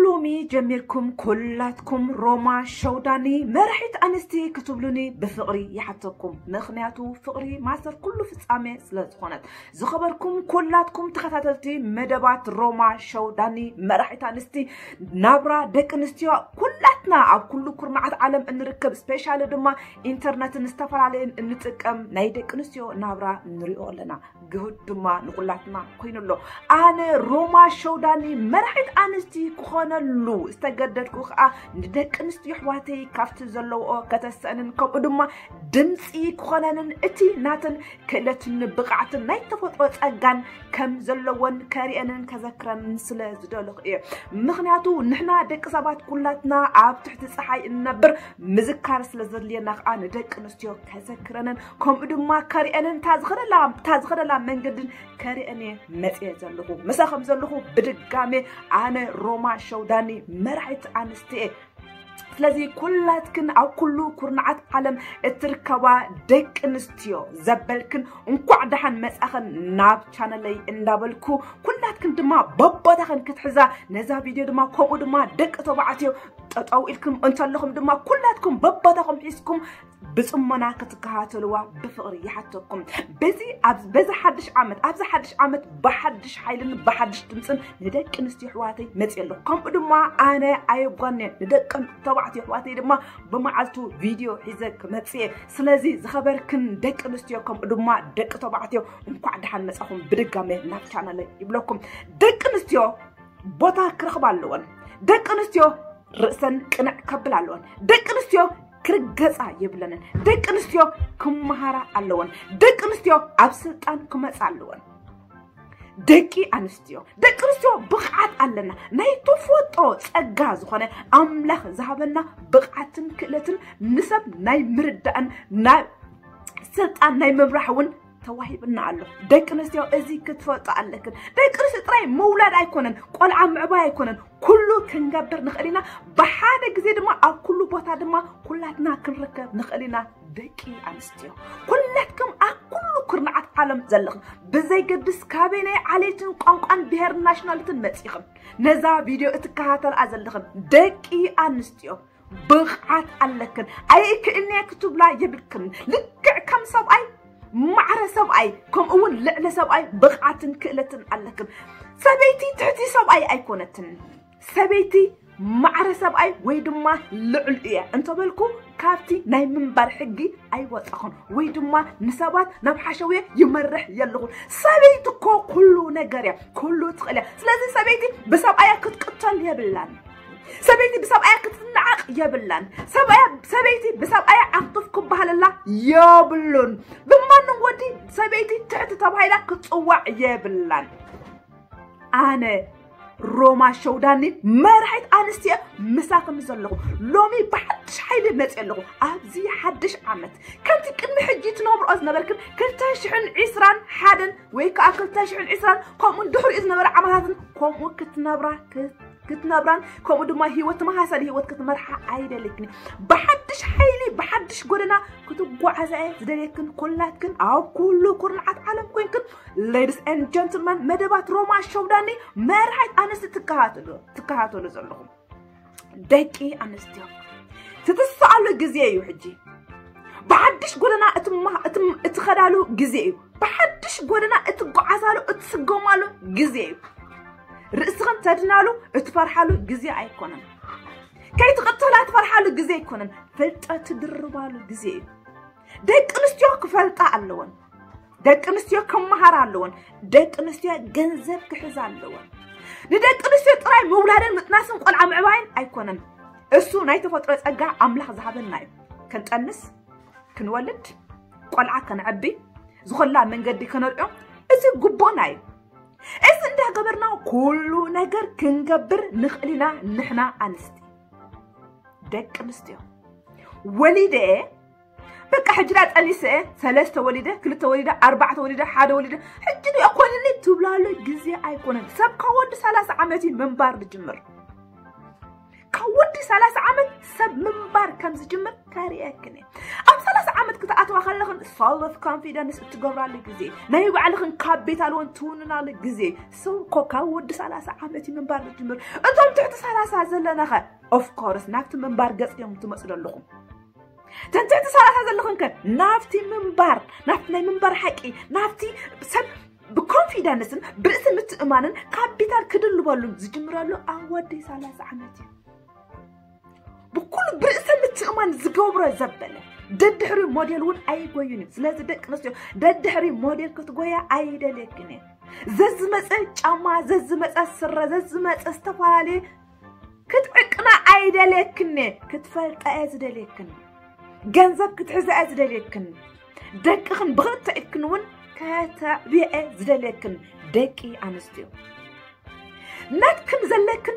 ሎሚ ጀሚርኩም ኩላትኩም ሮማ ሸውዳኒ መራሒት ኣንስቲ ክትብሉኒ ብፍቕሪ ይሓተኩም። ምኽንያቱ ፍቕሪ ማሰር ኩሉ ፍጻሜ ስለ ዝኾነት። ዝኸበርኩም ኩላትኩም ተኸታተልቲ መደባት ሮማ ሸውዳኒ መራሒት ኣንስቲ፣ ናብራ ደቂ ኣንስትዮ ኩላትና ኣብ ኩሉ ኩርናዓት ዓለም እንርከብ፣ ስፔሻሊ ድማ ኢንተርነትን ዝተፈላለየን እንጥቀም፣ ናይ ደቂ ኣንስትዮ ናብራ ንሪኦ ኣለና። ግሁድ ድማ ንኹላትና ኮይኑ ኣሎ። ኣነ ሮማ ሸውዳኒ መራሒት ኣንስቲ ክኾነሉ ዝተገደድኩ ከዓ ንደቂ ኣንስትዮ ኣሕዋተይ ካብቲ ዘለውኦ ከተሰእንን ከምኡ ድማ ድምፂ ክኾነንን እቲ ናተን ክእለትን ብቕዓትን ናይ ተፈጥሮ ጸጋን ከም ዘለወን ከርእየንን ከዘክረንን ስለ ዝደለኹ እየ። ምኽንያቱ ንሕና ደቂ ሰባት ኩላትና ኣብ ትሕቲ ፀሓይ እንነብር ምዝካር ስለ ዘድልየና ከዓ ንደቂ ኣንስትዮ ከዘክረንን ከምኡ ድማ ከርእየንን እታ ዝኸደላ እታ ዝኸደላ መንገድን ከርእየን እየ መፅየ ዘለኹ። ምሳኹም ዘለኹ ብድጋሜ ኣነ ሮማ ሸውዳኒ መራሒት ኣንስቲ እየ። ስለዚ ኩላትክን ኣብ ኩሉ ኩርናዓት ዓለም እትርከባ ደቂ ኣንስትዮ ዘበልክን እንኳዕ ደሓን መጻኽን ናብ ቻነለይ እንዳበልኩ፣ ኩላትክን ድማ በቦታኽን ክትሕዛ ነዛ ቪድዮ ድማ ከምኡ ድማ ደቂ ተባዕትዮ ጠጠው ኢልኩም እንተለኹም ድማ ኩላትኩም በቦታኹም ሒዝኩም ብጽሞና ክትከታተልዋ ብፍቕሪ ይሓተኩም። በዚ ኣብ በዚ ሓድሽ ዓመት ኣብዚ ሓድሽ ዓመት ብሓድሽ ሓይልን ብሓድሽ ድምፅን ንደቂ ኣንስትዮ ኣሕዋተይ መፅየ ኣለኹ። ከምኡ ድማ ኣነ ኣየጓንየን ንደቂ ተባዕትዮ ኣሕዋተይ ድማ ብመዓልቱ ቪድዮ ሒዘ ክመፅእ እየ። ስለዚ ዝኸበርክን ደቂ ኣንስትዮ ከምኡ ድማ ደቂ ተባዕትዮ እንኳዕ ደሓን መፃኹም ብድጋሜ ናብ ቻነለይ ይብለኩም። ደቂ ኣንስትዮ ቦታ ክረኽባ ኣለወን። ደቂ ኣንስትዮ ርእሰን ቅንዕ ከብል ኣለወን። ደቂ ኣንስትዮ ክርገፃ የብለንን። ደቂ ኣንስትዮ ክመሃራ ኣለወን። ደቂ ኣንስትዮ ኣብ ስልጣን ክመፃ ኣለወን። ደቂ ኣንስትዮ ደቂ ኣንስትዮ ብቕዓት ኣለና። ናይ ተፈጥሮ ፀጋ ዝኾነ ኣምላኽ ዝሃበና ብቕዓትን ክእለትን ንሰብ ናይ ምርዳእን ናይ ስልጣን ናይ ምምራሕ እውን ተዋሂብና ኣሎ። ደቂ ኣንስትዮ እዚ ክትፈልጡ ኣለክን። ደቂ ኣንስትዮ ጥራይ ምውላድ ኣይኮነን፣ ቆልዓ ምዕባይ ኣይኮነን፣ ኩሉ ክንገብር ንኽእል ኢና። ብሓደ ግዜ ድማ ኣብ ኩሉ ቦታ ድማ ኩላትና ክንርከብ ንኽእል ኢና። ደቂ ኣንስትዮ ኩላትኩም ኣብ ኩሉ ኩርናዓት ዓለም ዘለኽም ብዘይገድስ ካበይ ናይ ዓሌትን ቋንቋን ብሄርን ናሽናልትን መፂኽም ነዛ ቪድዮ እትከታተልኣ ዘለኽም ደቂ ኣንስትዮ ብቕዓት ኣለክን። ኣይክእልንየ ክትብላ የብልክን። ልክዕ ከም ሰብኣይ ማዕረ ሰብኣይ ከምኡ እውን ልዕሊ ሰብኣይ ብቕዓትን ክእለትን ኣለክን። ሰበይቲ ትሕቲ ሰብኣይ ኣይኮነትን። ሰበይቲ ማዕረ ሰብኣይ ወይ ድማ ልዑል እየ እንተበልኩ ካብቲ ናይ ምንባር ሕጊ ኣይወፃኹን ወይ ድማ ንሰባት ናብ ሓሸውየ ይመርሕ የለኹን። ሰበይቲ እኮ ኩሉ ነገር እያ፣ ኩሉ ትኽእል እያ። ስለዚ ሰበይቲ ብሰብኣያ ክትቅተል የብላን። ሰበይቲ ብሰብኣያ ክትናዓቕ የብላን። ሰብኣያ ሰበይቲ ብሰብኣያ ዓቕጥፍ ክበሃለላ የብሉን። ብማንም ወዲ ሰበይቲ ትሕቲ ተባሂላ ክትፅዋዕ የብላን። ኣነ ሮማ ሸውዳኒ መራሒት ኣንስትዮ ምሳኽም ዘለኹ ሎሚ ብሓድሽ ሓይሊ መፅእ ኣለኹ። ኣብዚ ሓድሽ ዓመት ከምቲ ቅድሚ ሕጂ ትነብርኦ ዝነበርክን ክልተ ሽሕን ዕስራን ሓደን ወይ ከዓ ክልተ ሽሕን ዕስራን ከምኡ ድሕሪኡ ዝነበረ ዓመታትን ከምኡ ክትነብራ ክትነብራን ከምኡ ድማ ህይወት ተመሳሳሊ ህይወት ክትመርሓ ኣይደልክን። ብሓድሽ ሓይሊ ብሓድሽ ጎደና ክትጓዓዛ እየ ዝደልየክን። ኩላትክን ኣብ ኩሉ ኩርናዓት ዓለም ኮይንክን ladies and gentlemen መደባት ሮማ ሸውዳኒ መርሓት ኣንስቲ ትከታተሉ ዘለኹም ደቂ ኣንስትዮ ትትስኣሉ ግዜ እዩ ሕጂ። ብሓድሽ ጎደና እትኸዳሉ ግዜ እዩ። ብሓድሽ ጎደና እትጓዓዛሉ እትስጎማሉ ግዜ እዩ። ርእስኽን ተድናሉ እትፈርሓሉ ግዜ ኣይኮነን። ከይትቕተላ ትፈርሓሉ ግዜ ኣይኮነን። ፍልጠት ትድርባሉ ግዜ እዩ። ደቂ ኣንስትዮ ክፈልጣ ኣለወን። ደቂ ኣንስትዮ ክመሃራ ኣለወን። ደቂ ኣንስትዮ ገንዘብ ክሕዛ ኣለወን። ንደቂ ኣንስትዮ ጥራይ ምውላድን ምጥናስን ቆልዓ ምዕባይን ኣይኮነን። እሱ ናይ ተፈጥሮ ጸጋ ኣምላኽ ዝሃበና እዩ። ክንጠንስ፣ ክንወልድ፣ ቆልዓ ከነዕቢ፣ ዝኾላ መንገዲ ከነርኦ፣ እዚ ግቡእና እዩ። እዚ እንዳገበርና ኩሉ ነገር ክንገብር ንኽእል ኢና። ንሕና ኣንስቲ ደቂ ኣንስትዮ ወሊደ በቃ ሕጂ ዳ ጠኒሰ ሰለስተ ወሊደ ክልተ ወሊደ ኣርባዕተ ወሊደ ሓደ ወሊደ ሕጂ ዶ ኣይኮንኒ ትብላሉ ግዜ ኣይኮነን። ሰብ ካብ ወዲ ሰላሳ ዓመት እዩ ምንባር ዝጅምር። ካብ ወዲ ሰላሳ ዓመት ሰብ ምንባር ከም ዝጅምር ከርእየክን እየ። ኣብ ሰላሳ ዓመት ክትኣትዋ ከለኽን ሰልፍ ኮንፊደንስ እትገብራሉ ግዜ፣ ናይ ባዕልኽን ካፒታል እውን ትውንናሉ ግዜ። ሰው እኮ ካብ ወዲ ሰላሳ ዓመት እዩ ምንባር ዝጅምር። እቶም ትሕቲ ሰላሳ ዘለናኸ ኦፍኮርስ ናብቲ ምንባር ገጽ እዮም ትመፁ ዘለኹም። ተን ትሕቲ ሰላሳ ዘለኹም ከ ናብቲ ምንባር፣ ናብቲ ናይ ምንባር ሓቂ፣ ናብቲ ሰብ ብኮንፊደንስን ብርእሲ ምትእማንን ካፒታል ክድልበሉ ዝጅምረሉ ኣብ ወዲ ሰላሳ ዓመት እዩ። ብኩሉ ብርእሰ ምትእማን ዝገብሮ ዘበለ ደድሕሪ ሞዴል እውን ኣይጎዩን እዩ። ስለዚ ደቂ ኣንስትዮ ደድሕሪ ሞዴል ክትጎያ ኣይደልየክን እየ። ዘዝመፀ ጫማ፣ ዘዝመፀ ስረ፣ ዘዝመፀ ዝተፈላለየ ክትዕቅና ኣይደልየክን እየ። ክትፈልጣ እየ ዝደልየክን። ገንዘብ ክትሕዛ እየ ዝደልየክን። ደቅኽን ብኽልተ ኢድክን እውን ከተዕብየ እየ ዝደልየክን። ደቂ ኣንስትዮ ናትክን ዘለክን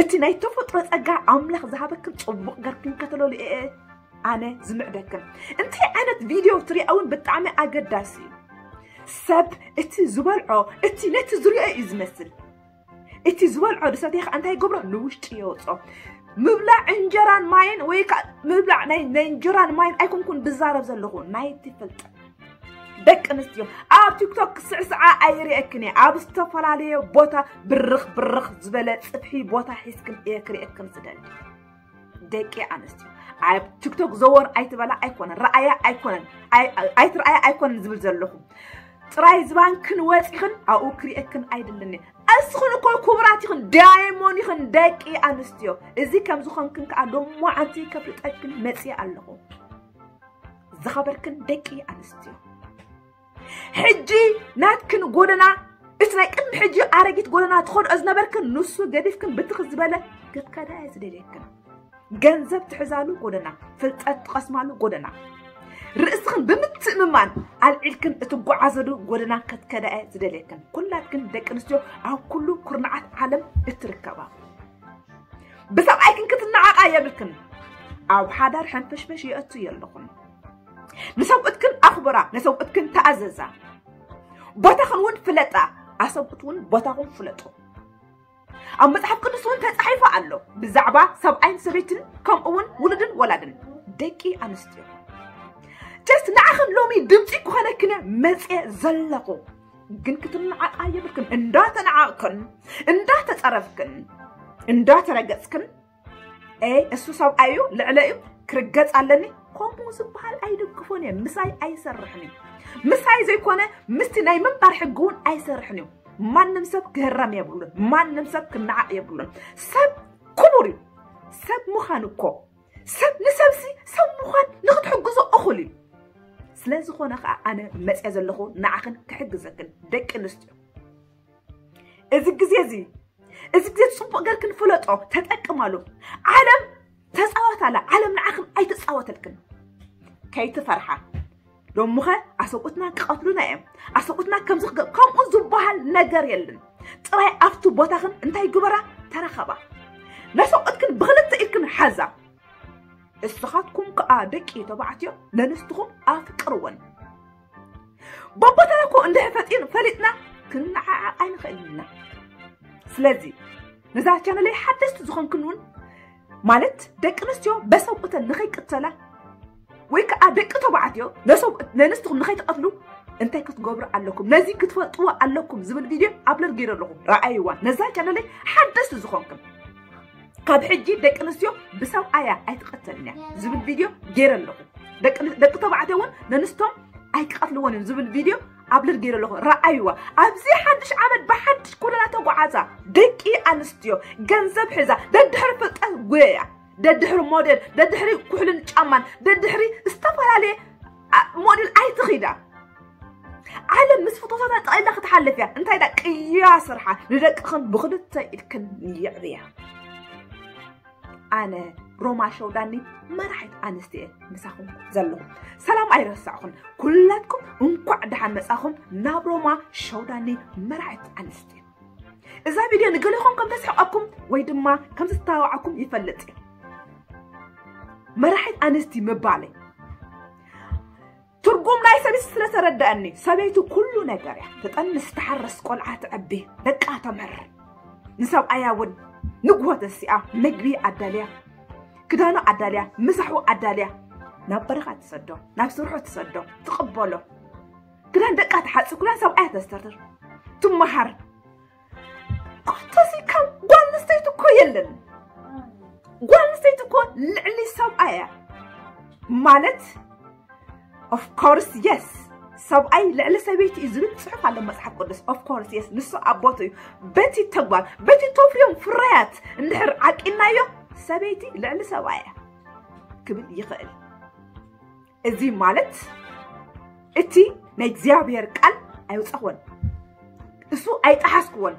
እቲ ናይ ተፈጥሮ ጸጋ ኣምላኽ ዝሃበክን ጽቡቕ ገርክን ከተለሉ እየ ኣነ ዝምዕደክን። እንታይ ዓይነት ቪድዮ ትሪኣ እውን ብጣዕሚ ኣገዳሲ እዩ። ሰብ እቲ ዝበልዖ እቲ ነቲ ዝሪኦ እዩ ዝመስል። እቲ ዝበልዖ ዝሰትየ ከዓ እንታይ ይገብሮ? ንውሽጢ የውፅኦ። ምብላዕ እንጀራን ማይን ወይ ከዓ ምብላዕ ናይ ናይ እንጀራን ማይን ኣይኮንኩን ዝዛረብ ዘለኹ፣ ናይቲ ፍልጠት። ደቂ ኣንስትዮ ኣብ ቲክቶክ ክስዕስዓ ኣይርእየክን እየ። ኣብ ዝተፈላለየ ቦታ ብርኽ ብርኽ ዝበለ ጽፍሒ ቦታ ሒዝክን እየ ክርእየክን ዝደሊ። ደቂ ኣንስትዮ ኣብ ቲክቶክ ዘወር ኣይትበላ ኣይኮነን፣ ረኣያ ኣይኮነን፣ ኣይ- ኣይትረኣያ ኣይኮነን ዝብል ዘለኹ። ጥራይ ዝባንክን ወፂኽን ኣብኡ ክርእየክን ኣይደልን እየ። እስኽን እኮ ክቡራት ኢኽን፣ ዳይሞን ኢኽን ደቂ ኣንስትዮ። እዚ ከም ዝኾንክን ከዓ ሎማዓንቲ ከፍልጠክን መፅየ ኣለኹ። ዝኸበርክን ደቂ ኣንስትዮ፣ ሕጂ ናትክን ጎደና፣ እቲ ናይ ቅድሚ ሕጂ ኣረጊት ጎደና ትኸድኦ ዝነበርክን ንሱ ገዲፍክን ብትኽ ዝበለ ክትከዳ እየ ዝደልየክን። ገንዘብ ትሕዛሉ ጎደና፣ ፍልጠት ትቐስማሉ ጎደና፣ ርእስኽን ብምትእምማን ኣልዒልክን እትጓዓዘሉ ጎደና ክትከዳ እየ ዝደልየክን። ኩላትክን ደቂ ኣንስትዮ ኣብ ኩሉ ኩርናዓት ዓለም እትርከባ፣ ብሰብኣይክን ክትነዓቓ የብልክን። ኣብ ሓዳር ሕንፍሽፍሽ የእቱ የለኹን። ንሰብኡትክን ኣኽብራ፣ ንሰብኡትክን ተኣዘዛ። ቦታኽን እውን ፍለጣ፣ ኣሰብኡት እውን ቦታኹም ፍለጡ። ኣብ መጽሓፍ ቅዱስ እውን ተጻሒፉ ኣሎ ብዛዕባ ሰብኣይን ሰበይትን ከምኡ እውን ውሉድን ወላድን። ደቂ ኣንስትዮ፣ ጀስት ንዓኽን ሎሚ ድምፂ ክኾነክን እየ መፅየ ዘለኹ። ግን ክትነዓቓ የብልክን። እንዳተነዓቕክን፣ እንዳተፀረፍክን፣ እንዳተረገፅክን፣ ኤ እሱ ሰብኣይ እዩ፣ ልዕለ እዩ፣ ክርገፅ ኣለኒ፣ ከምኡ ዝበሃል ኣይድግፎን እየ። ምሳይ ኣይሰርሕን እዩ። ምሳይ ዘይኮነ ምስቲ ናይ ምንባር ሕጊ እውን ኣይሰርሕን እዩ። ማንም ሰብ ክህረም የብሉን። ማንም ሰብ ክነዓቕ የብሉን። ሰብ ክቡር እዩ። ሰብ ምዃን እኮ፣ ሰብ ንሰብሲ ሰብ ምዃን ንክትሕግዞ እኹል እዩ። ስለ ዝኾነ ከዓ ኣነ መፅየ ዘለኹ ንዓኽን ክሕግዘክን ደቂ ኣንስትዮ። እዚ ግዜ እዚ፣ እዚ ግዜ ፅቡቕ ገርክን ፍለጦ፣ ተጠቅማሉ። ዓለም ተፃወት ኣላ፣ ዓለም ንዓኽን ኣይትፃወተልክን። ከይትፈርሓ። ሎምኸ ኣሰብኡትና ክቐትሉና እዮም፣ ኣሰብኡትና ከምዚ ክገ-፣ ከምኡ ዝበሃል ነገር የለን። ጥራይ ኣብቲ ቦታኽን እንታይ ግበራ? ተረኸባ። ነሰብኡትክን ብኽልተ ኢድክን ሓዛ። እስኻትኩም ከኣ ደቂ ተባዕትዮ ነንስትኹም ኣፍቅርወን። በቦታና እኮ እንድሕር ፈጢን ፈሊጥና ክንዓዓቕ ኣይንኽእልን ኢና። ስለዚ ነዛ ቻነለይ ሓደስቲ ዝኾንክን እውን፣ ማለት ደቂ ኣንስትዮ በሰብኡተን ንኸይቅተላ ወይ ከዓ ደቂ ተባዕትዮ ነሰብ-፣ ነንስትኹም ንኸይትቐትሉ እንታይ ክትገብሩ ኣለኩም፣ ነዚ ክትፈልጥዎ ኣለኩም ዝብል ቪድዮ ኣፕሎድ ገይረ ኣለኹ። ረኣይዋ። ነዛ ቻነለይ ሓደስቲ ዝኾንክን ካብ ሕጂ ደቂ ኣንስትዮ ብሰብኣያ ኣይትቐተልን እያ ዝብል ቪድዮ ገይረ ኣለኹ። ደቂ ደቂ ተባዕትዮ እውን ነንስቶም ኣይክቐትልዎን እዮም ዝብል ቪድዮ ኣፕሎድ ገይረ ኣለኹ። ረኣይዋ። ኣብዚ ሓድሽ ዓመት ብሓድሽ ጎደና ተጓዓዛ። ደቂ ኣንስትዮ ገንዘብ ሒዛ ደድሕሪ ፍልጠት ጉየያ። ደድሕሪ ሞዴል፣ ደድሕሪ ኩሕልን ጫማን፣ ደድሕሪ ዝተፈላለየ ኣ-፣ ሞዴል ኣይትኺዳ። ዓለም ምስ ፍቶታታ ጠቕሊላ ክትሓልፍ እያ። እንታይ ዳ ቅያ ስርሓ ንደቅኽን ብኽልተ ኢድክን የዕብያ። ኣነ ሮማ ሸውዳኒ መራሒት ኣንስቲ እየ ምሳኹም ዘለኹ። ሰላም ኣይረሳዕኹን። ኩላትኩም እንኳዕ ደሓን መጻኹም ናብ ሮማ ሸውዳኒ መራሒት ኣንስቲ። እዛ ቪድዮ ንገሊኹም ከም ተስሕቐኩም ወይ ድማ ከም ተስተባብዓኩም ይፈልጥ እየ። መራሒት ኣንስቲ ምባለይ ትርጉም ናይ ሰበይቲ ስለ ተረድኣኒ፣ ሰበይቲ ኩሉ ነገር እያ። ትጠንስ፣ ትሓርስ፣ ቆልዓ ተዕቢ፣ ደቃ ተምህር። ንሰብኣያ እውን ንግሆ ተሲኣ ምግቢ ኣዳልያ፣ ክዳኑ ኣዳልያ፣ ምሳሑ ኣዳልያ፣ ናብ በረኻ ትሰዶ፣ ናብ ስርሑ ትሰዶ፣ ትቕበሎ። ክዳን ደቃ ትሓጽብ፣ ክዳን ሰብኣያ ተስተርትር፣ ትመሃር። ኮተሲ ከም ጓል ኣንስተይቲ እኮ የለን። ጓል ኣንስተይቲ እኮ ልዕሊ ሰብኣያ ማለት፣ of course yes፣ ሰብኣይ ልዕሊ ሰበይቲ እዩ ዝብል ጽሑፍ ኣሎ መጽሓፍ ቅዱስ። Of course yes፣ ንሱ ኣቦቱ እዩ። በቲ ተግባር፣ በቲ ተፍርዮም ፍርያት እንድሕር ዓቂናዮ፣ ሰበይቲ ልዕሊ ሰብኣያ ክብል ይኽእል። እዚ ማለት እቲ ናይ እግዚኣብሔር ቃል ኣይውጻኽዎን፣ እሱ ኣይጠሓስክዎን።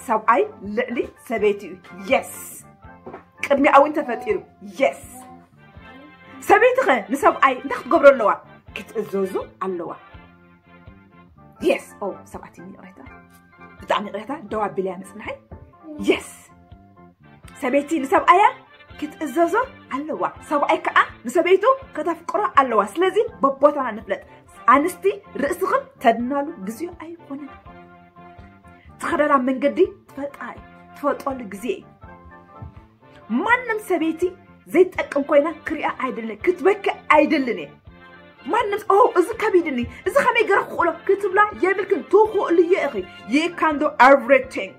ሰብኣይ ልዕሊ ሰበይቲ እዩ። Yes፣ ቅድሚ ኣውን ተፈጢሩ። Yes፣ ሰበይቲ ኸ ንሰብኣይ እንታይ ክትገብሮ ኣለዋ? ክትእዘዙ ኣለዋ። Yes፣ ኦ ሰባት ይቕሬታ፣ ብጣዕሚ ይቕሬታ፣ ደው ኣቢለያ ምጽንሐይ። Yes፣ ሰበይቲ ንሰብኣያ ክትእዘዞ ኣለዋ። ሰብኣይ ከዓ ንሰበይቱ ከተፍቅሮ ኣለዋ። ስለዚ በቦታና ንፍለጥ። ኣንስቲ ርእስኽን ተድናሉ ግዜኡ ኣይኮነን። ትኸደላ መንገዲ ትፈልጣ እዩ፣ ትፈልጠሉ ግዜ እዩ። ማንም ሰበይቲ ዘይጠቅም ኮይና ክሪኣ ኣይደልን፣ ክትበኪ ኣይደልን እየ። ማንም ኦ እዚ ከቢድኒ፣ እዚ ከመይ ገረ ክኽእሎ ክትብላ የብልክን። ትኽእልዮ ኢኺ። You can do everything።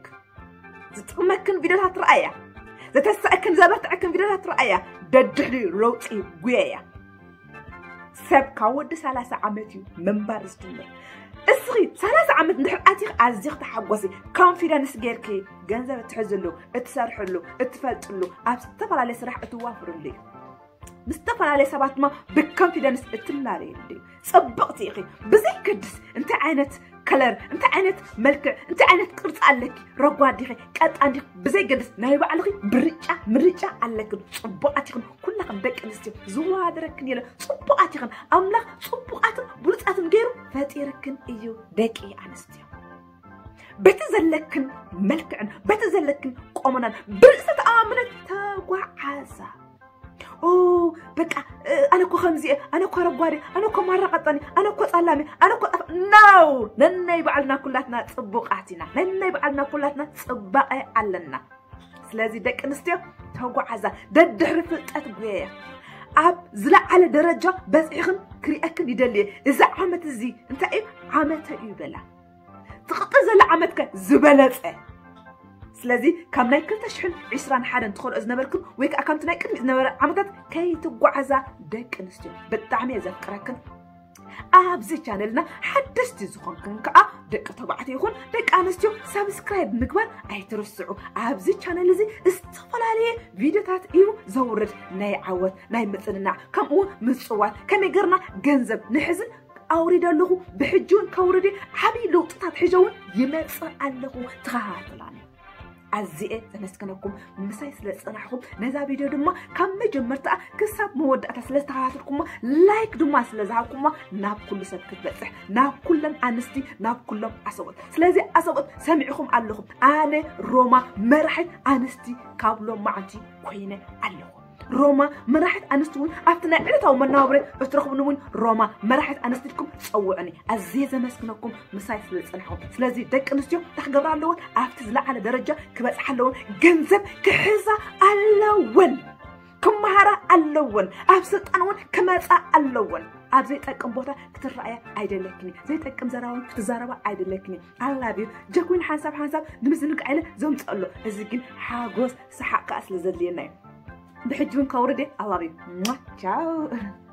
ዝጥቕመክን ቪድዮታት ረኣያ፣ ዘተስኣክን ዘበርትዐክን ቪድዮታት ረኣያ፣ ደድሕሪ ለውጢ ጉየያ። ሰብ ካብ ወዲ ሰላሳ ዓመት እዩ ምንባር ዝጅምር። እስኺ ሰላሳ ዓመት እንድሕር ኣቲኺ ኣዚኺ ተሓጎሲ፣ ኮንፊደንስ ጌርኪ ገንዘብ እትሕዝሉ፣ እትሰርሕሉ፣ እትፈልጥሉ፣ ኣብ ዝተፈላለየ ስራሕ እትዋፍርሉ እዩ። ምስ ዝተፈላለየ ሰባት ድማ ብኮንፊደንስ እትላለየሉ እዩ። ጽብቕቲ ኢኺ። ብዘይገድስ እንታይ ዓይነት ከለር፣ እንታይ ዓይነት መልክዕ፣ እንታይ ዓይነት ቅርጺ ኣለኪ፣ ረጓድ ዲኺ፣ ቀጣን ዲኺ፣ ብዘይገድስ ናይ ባዕልኺ ብርጫ ምርጫ ኣለክን። ጽቡቓት ኢኽን ኩላኽን ደቂ ኣንስትዮ። ዝወዳደረክን የለ። ጽቡቓት ኢኽን። ኣምላኽ ጽቡቓትን ብሉጻትን ገይሩ ፈጢርክን እዩ ደቂ ኣንስትዮ። በቲ ዘለክን መልክዕን በቲ ዘለክን ቆመናን ብርእሰ ተኣማምነት ተጓዓዛ። ኦ በቃ እ፣ ኣነ እኮ ከምዚ እየ፣ ኣነ እኮ ረጓድ እየ፣ ኣነ እኮ ማራ ቀጠን እየ፣ ኣነ እኮ ጸላም እየ፣ ኣነ እኮ ጠፍ-፣ no! ነናይ ባዕልና ኩላትና ጽቡቓት ኢና። ነናይ ባዕልና ኩላትና ጽባቐ ኣለና። ስለዚ ደቂ ኣንስትዮ ተጓዓዛ፣ ደድሕሪ ፍልጠት ጉየያ። ኣብ ዝለዓለ ደረጃ በጺሕኽን ክሪኣክን ይደሊ እየ። እዚ ዓመት እዚ እንታይ እዩ? ዓመተ እዩ በላ። ትቕጽል ዘላ ዓመት ከ ዝበለጸ። ስለዚ ካብ ናይ ክልተ ሽሕን ዕስራን ሓደን ትኸድኦ ዝነበርክን ወይ ከዓ ከምቲ ናይ ቅድሚት ዝነበረ ዓመታት ከይትጓዓዛ ደቂ ኣንስትዮ ብጣዕሚ እየ ዘፍቅረክን። ኣብዚ ቻነልና ሓደስቲ ዝኾንክን ከዓ ደቂ ተባዕትዮ ይኹን ደቂ ኣንስትዮ ሳብስክራይብ ምግባር ኣይትርስዑ። ኣብዚ ቻነል እዚ ዝተፈላለየ ቪድዮታት እዩ ዘውርድ፣ ናይ ዓወት፣ ናይ ምጽንናዕ፣ ከምኡ እውን ምጽዋት፣ ከመይ ገርና ገንዘብ ንሕዝን ኣውሪደ ኣለኹ፣ ብሕጂ እውን ከውርድ እየ፣ ዓብዪ ለውጥታት ሒዘ እውን ይመጽእ ኣለኹ፣ ተኸታተላኒ። ኣዝየ ዘመስግነኩም ምሳይ ስለ ዝጸናሕኩም፣ ነዛ ቪድዮ ድማ ካብ መጀመርታኣ ክሳብ መወዳእታ ስለ ዝተኸታተልኩማ፣ ላይክ ድማ ስለ ዝሃብኩማ፣ ናብ ኩሉ ሰብ ክትበጽሕ፣ ናብ ኩለን ኣንስቲ፣ ናብ ኩሎም ኣሰቦት። ስለዚ ኣሰቦት ሰሚዕኹም ኣለኹም፣ ኣነ ሮማ መራሒት ኣንስቲ ካብ ሎማዓንቲ ኮይነ ኣለኹ። ሮማ መራሒት ኣንስቲ እውን ኣብቲ ናይ ዕለታዊ መናብረ እትረኽቡኒ እውን ሮማ መራሒት ኣንስቲ ኢልኩም ጸውዑኒ። ኣዝየ ዘመስግነኩም ምሳይ ስለ ዝጸናሕኩም። ስለዚ ደቂ ኣንስትዮ እንታይ ክገብራ ኣለወን? ኣብቲ ዝለዓለ ደረጃ ክበጽሓ ኣለወን። ገንዘብ ክሕዛ ኣለወን። ክመሃራ ኣለወን። ኣብ ስልጣን እውን ክመጻ ኣለወን። ኣብ ዘይጠቅም ቦታ ክትረኣያ ኣይደለክን። ዘይጠቅም ዘረባ እውን ክትዛረባ ኣይደለክን። I love you። ጀኩዊን ሓንሳብ ሓንሳብ ንምዝንጋዕ ኢለ ዘምጽኦ ኣሎ። እዚ ግን ሓጎስ ሰሓቕ ከኣ ስለ ዘድልየና እዩ። ብሕጂ እውን ከውርድ እየ። I love you። ሟ፣ ቻው።